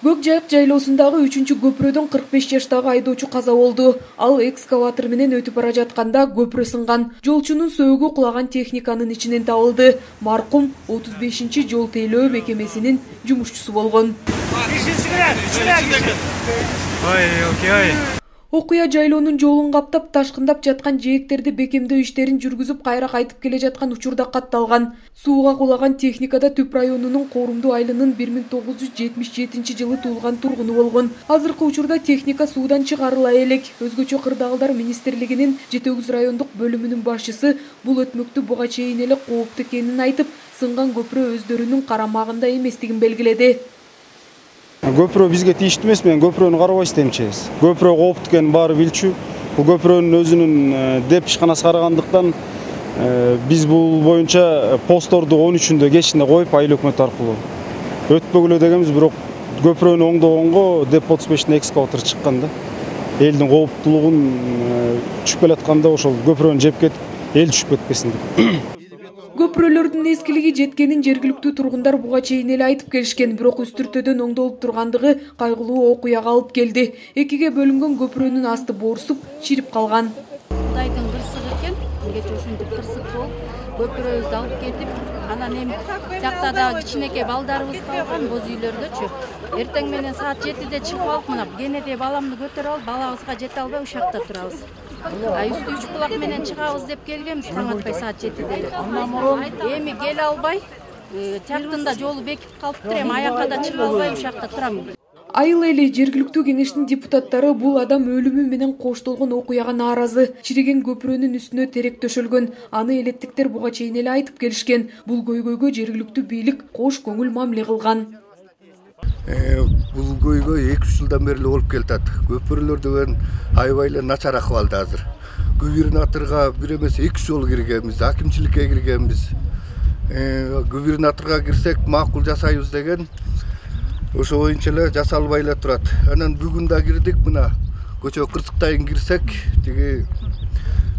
Көк Жайык жайлоосундагы 3-көпүрөдөн 45 жаштагы айдоочу каза болду. Ал экскаватор менен өтүп бара жатканда көпүрө сынган. Жолчунун сөөгү кулаган техниканын ичинен табылды. Маркум 35-жол тейлөө мекемесинин жумушчусу болгон. Окуя жайлоонун жолун каптап, ташкындап жаткан жээктерди бекемдөө иштерин жүргүзүп, кайра кайтып келе жаткан учурда катталган. Сууга кулаган техникада Түп районунун Корумду айылынын 1977-жылы туулган тургуну болгон. Азыркы учурда техника суудан чыгарыла элек. Өзгөчө кырдаалдар министрлигинин Жети-Өгүз райондук бөлүмүнүн башчысы бул өтмөктү буга чейин эле кооптуу экенин айтып, сынган көпүрө өздөрүнүн карамагында эместигин белгиледи. Көпүрө бизге тийиштүү эмес, мен көпүрөнү карабай истемчүбүз. Көпүрө кооптуу экенин баары билчү. Бул көпүрөнүн өзүнүн деп ишканасы карагандыктан биз бул боюнча постторду 13-үндө кечинде коюп, айыл өкмөтү аркылуу өтпөгүлө дегенбиз, бирок көпүрөнү оңдогонго деп 35-те экскаватор чыккан да. Элдин кооптуулугун түшүп келатканда ошол көпүрөнү жеп кетип, эл түшүп кетпесин деп. Көпүрөлөрдүн эскилиги жеткенин жергиликтүү тургундар буга чейин эле айтып келишкен, бирок үстүртөдөн оңдолуп тургандыгы кайгылуу окуяга алып келди. Экиге бөлүнгөн көпүрөнүн асты боорусуп, чирип калган. Кудайдын кырсыгы экен, кече ушинтип кырсык болуп, көпүрөбүздү алып кетип, анан эми жакта да кичинекей балдарыбыз калган, боз үйлөрдөчү. Эртең менен саат 7-де чыгып алып, мына кенеде баламды көтөрүп алып, балабызга жете албай ушакта турабыз. Үстү 3 булак менен чыгабыз деп келгенбиз, таң атпай саат 7-де. Эми келе албай, чактында жолу бекип калыптыр, эми аякка да чыга албай ушакта турам. Айыл эли жергиликтүү кеңештин депутаттары бул адам өлүмү менен коштолгон окуяга нааразы. Чириген көпүрөнүн үстүнө терек төшөлгөн. Аны элеттиктер буга чейин эле айтып келишкен. Бул көйгөйгө жергиликтүү бийлик кош көңүл мамиле кылган. Бул көйгөй 2-3 жылдан бери болуп келатат. Көпүрөлөр деген аябай эле начар акыбалда азыр. Губернаторго бир эмес 2 жолу киргенбиз, акимчиликке киргенбиз. Губернаторго кирсек макул жасайбыз деген ошо боюнча эле жасалбай эле турат. Анан бүгүн да кирдик, мына көчө кырсыктайын кирсек, тиги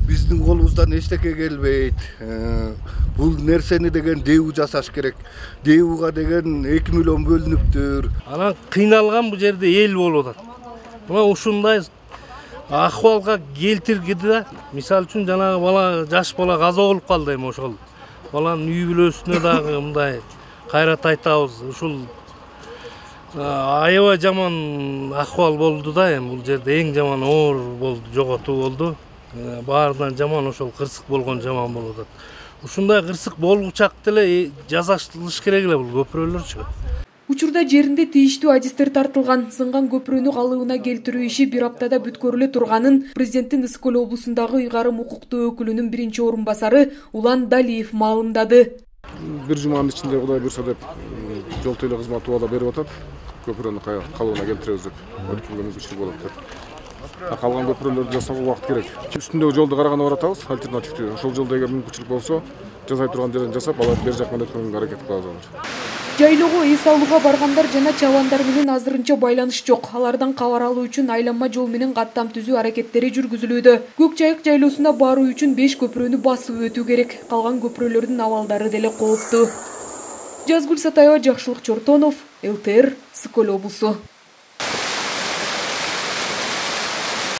биздин колубуздан эчтеке келбейт. Бул нерсени деген ДЭУ жасаш керек. ДЭУга деген 2 миллион бөлүнүптүр. Анан кыйналган бул жерде эл болуп атат. Мына ушундай акыбалга келтиргиди да. Мисалы үчүн жанагы бала, жаш бала каза болуп калды, эми ошол баланын үй бүлөсүнө дагы мындай кайрат айтабыз. Ушул аябай жаман акыбал болду да, эми бул жерде эң жаман оор болду, жоготуу болду. Баарынан жаман ошол кырсык болгон жаман болуп атат. Ушундай кырсык болгучак деле жасалыш керек эле бул көпүрөлөрчү. Учурда жеринде тийиштүү адистер тартылган. Сынган көпүрөнү калыбына келтирүү иши бир аптада бүткөрүлө турганын президенттин Ысык-Көл облусундагы ыйгарым укуктуу өкүлүнүн биринчи орун басары Улан Далиев маалымдады. Бир жуманын ичинде Кудай буйрса деп жол тейлөө кызматы убада берип атат. Көпүрөнү калыбына келтиребиз деп, өткөнгө мүмкүнчүлүк болот деп. Калган көпүрөлөрдү жасоого убакыт керек. Үстүндөгү жолду караганда баратабыз, альтернативдүү. Ошол жолдо эгер мүмкүнчүлүк болсо, жасай турган жерден жасап, алар бер жак менен өткөнгө аракет кылабыз. Жайлоого эс алууга баргандар жана чабандар менен азырынча байланыш жок. Алардан кабар алуу үчүн айланма жол менен каттам түзүү аракеттери жүргүзүлүүдө. Көк Жайык жайлоосуна баруу үчүн 5 көпүрөнү басып өтүү керек. Калган көпүрөлөрдүн абалдары деле кооптуу. Жазгүл Сатаева, Жакшылык Чортонов, ЛТР, Ысык-Көл облусу.